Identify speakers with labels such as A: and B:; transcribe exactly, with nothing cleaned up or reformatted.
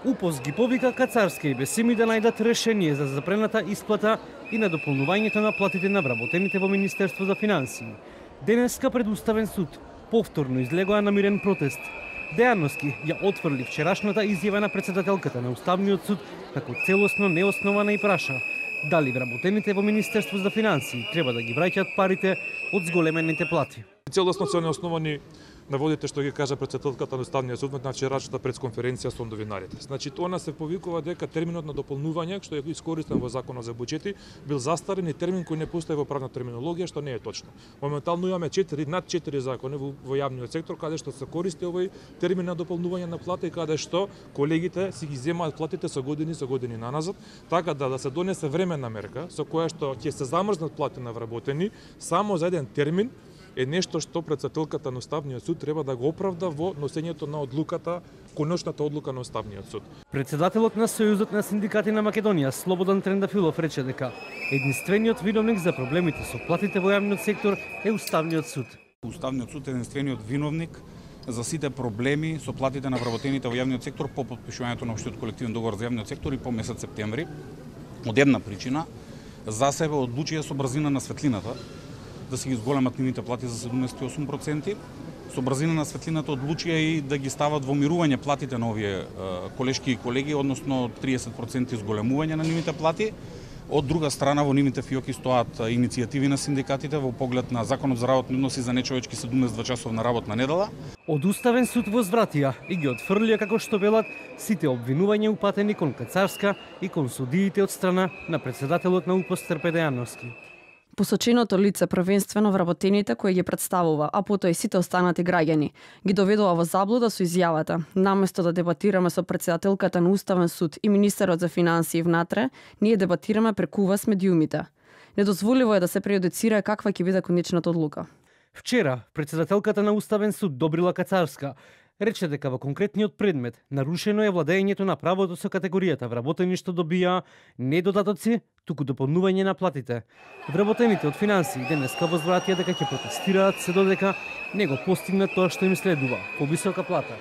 A: УПОС ги повика Кацарска и Бесими да најдат решение за запрената исплата и на дополнувањето на платите на вработените во Министерство за финансии. Денеска пред Уставен суд повторно излегоа на мирен протест. Дејановски ја отфрли вчерашната изјава на председателката на Уставниот суд како целосно неоснована и праша дали вработените во Министерство за финансии треба да ги враќаат парите од зголемените плати.
B: Целосно се неосновани наводите што ги кажа председателката на Уставниот суд на вчерашната пресконференција со новинарите. Значи тоа се повикува дека терминот на дополнување што е искористен во Законот за буџети бил застарен и термин кој не постои во правна терминологија, што не е точно. Моментално имаме четири над четири закони во, во јавниот сектор каде што се користи овој термин на дополнување на плата и каде што колегите си ги земаат платите со години со години наназад, така да да се донесе временна мерка со која што ќе се замрзнат плати на вработени само за еден термин е нешто што председателката на Уставниот суд треба да го оправда во носењето на одлуката, конечната одлука на Уставниот суд.
A: Председателот на Сојузот на синдикати на Македонија, Слободан Трендафилов, рече дека единствениот виновник за проблемите со платите во јавниот сектор е Уставниот суд.
C: Уставниот суд е единствениот виновник за сите проблеми со платите на вработените во јавниот сектор по потпишувањето на општиот колективен договор за јавниот сектор и по месец септември. Од една причина, за себе одлучија со брзина на светлината да се ги зголемат нивните плати за седумдесет и осум проценти. Со брзина на светлината одлучија и да ги стават во мирување платите на овие колешки и колеги, односно триесет проценти зголемување на нивните плати. Од друга страна, во нивните фиоки стоат иницијативи на синдикатите во поглед на Законот за работни односи за нечовечки седумдесет и две часовна работна недела.
A: Од Уставен суд возвратија и ги отфрлија, како што велат, сите обвинувања упатени кон Кацарска и кон судиите од страна на председателот на УПОС Трпе Дејановски.
D: Посоченото лице првенствено вработените кои ги представува, а потоа и сите останати граѓани, ги доведува во заблуда со изјавата. Наместо да дебатираме со председателката на Уставен суд и министерот за финансии внатре, ние дебатираме преку вас медиумите. Недозволиво е да се прејудицира каква ќе биде конечната одлука.
A: Вчера председателката на Уставен суд Добрила Кацарска рече дека во конкретниот предмет нарушено е владењето на правото со категоријата вработени што добија не додатоци, туку дополнување на платите. Вработените од финансии денеска возвратија дека ќе протестираат се додека не го постигнат тоа што им следува, повисока плата.